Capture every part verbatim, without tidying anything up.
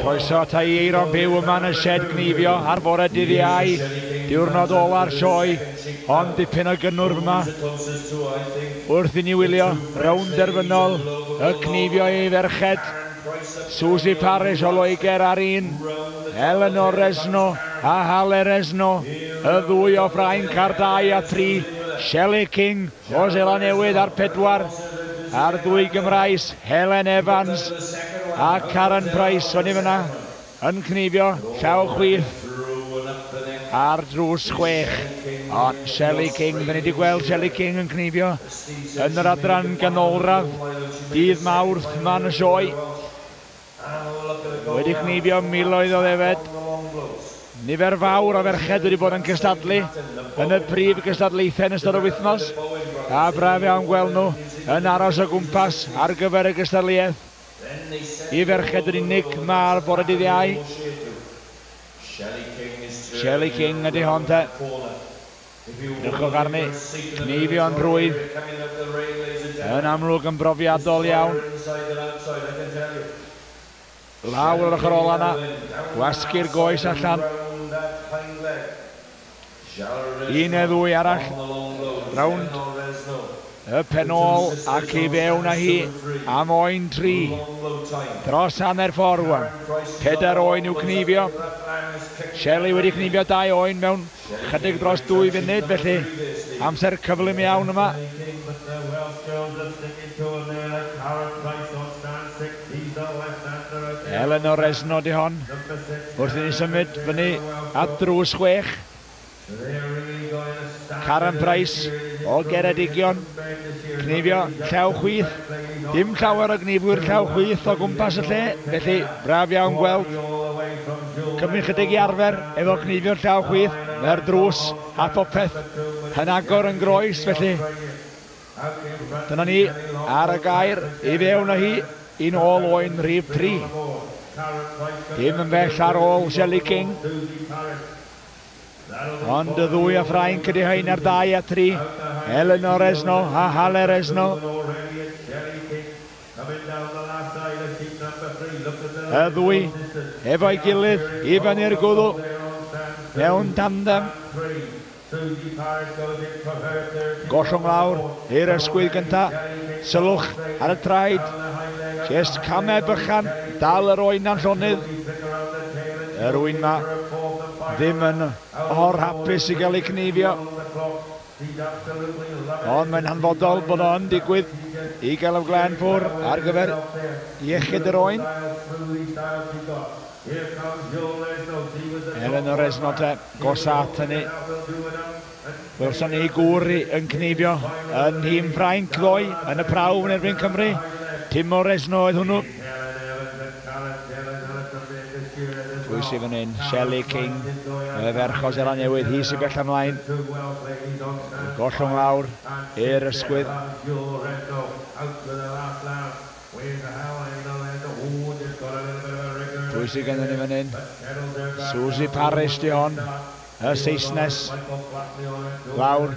Croeso ata i Eiron byw yma yn y shed gneifio ar fore dydd Iau, diwrnod ola'r sioe, ond dipyn o gynnwrf yma wrth i ni wylio rownd derfynol y cneifio i ferched. Suzy Parish o Loegr ar un, Eleanor Resno a Hale Resno, y ddwy o Ffrainc ar dau a tri, Shelley King o Seland Newydd ar pedwar, a'r ddwy Gymraes, Helen Evans a Karen Price fyny fyna yn cneifio llaw chwith ar drws chwech. Ond Shelley King, da ni wedi gweld Shelley King yn cneifio yn yr adran ganolradd dydd Mawrth yma yn y sioe. Wedi cneifio miloedd o ddefed. Nifer fawr o ferched wedi bod yn cystadlu yn y prif gystadlaethau yn ystod y wythnos. A braf iawn gweld nhw yn aros o gwmpas ar gyfer y gystadleuaeth. I ferched yn unig mae'r bore dydd Iau. Shelley King ydy hon te. Edrychwch arni, cneifio'n rhwydd, yn amlwg yn brofiadol iawn. Lawr yr ochr ola yna, gwasgu'r goes allan. Un neu ddwy arall, rownd y pen ôl ac i fewn â hi am oen tri. Dros hanner ffordd rwan. Pedair oen i'w cneifio. Shelley wedi cneifio dau oen mewn chydig dros dwy funud, felly amser cyflym iawn yma. Eleanor Resno di hon, wrth i ni symud fyny at drws chwech. Karen Price o Geredigion, cneifio llaw chwith. Dim llawer o gneifwyr llaw chwith o gwmpas y lle, felly braf iawn gweld. Cymryd chydig i arfer efo cneifio llaw chwith, mae'r drws a popeth yn agor yn groes, felly dyna ni ar y gair i fewn â hi un ôl oen rhif tri. Dim yn bell ar ôl Shelley King. Ond y ddwy a Ffrainc ydy hein ar dau a tri, Eleanor Resno a Hale Resno. Y ddwy efo'i gilydd i fyny'r gwddw mewn tandem. Gollwng lawr i'r ysgwydd gynta, sylwch ar y traed, jest camau bychan, dal yr oen a'n llonydd. Yr oen ma ddim yn or hapus i gael ei cneifio. Ond mae'n hanfodol bod o'n digwydd i gael y glen ffwr ar gyfer iechyd yr oen. Eleanor Resno te, gosa at hynny. Welson ni gŵr yn cneifio yn nhîm Ffrainc ddoe yn y prawf yn erbyn Cymru. Timo Resno oedd hwnnw. Pwy sydd fan hyn? Shelley King, y ferch o Seland Newydd, hi sy'n bell ymlaen. Gollwng lawr i'r ysgwydd. Pwy sydd gennym ni fan hyn? Suzy Parish di hon, y Saesnes, lawr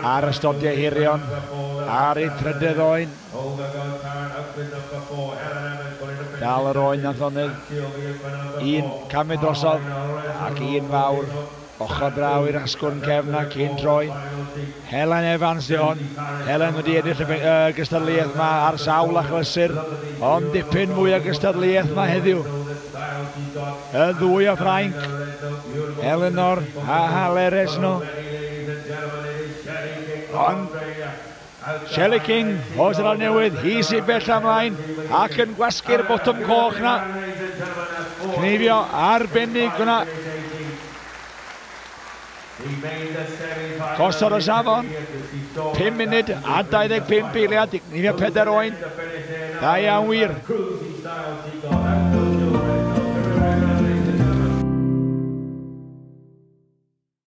ar ystodiau hirion, ar ei trydydd oen. Dal yr oen nath onydd. Un camu drosodd ac un fawr ochr draw i'r asgwrn cefn ac un troi. Helen Evans di hon. Helen wedi ennill y gystadleuaeth yma ar sawl achlysur, ond dipyn mwy o gystadleuaeth yma heddiw. Y ddwy o Ffrainc, Eleanor a Hale Resno. Ond Shelley King o Seland Newydd, hi sy'n bell ymlaen ac yn gwasgu'r botwm coch na. Cneifio arbennig hwnna. Gosod y safon, pum munud a dau ddeg pump eiliad, cneifio pedair oen. Da iawn wir.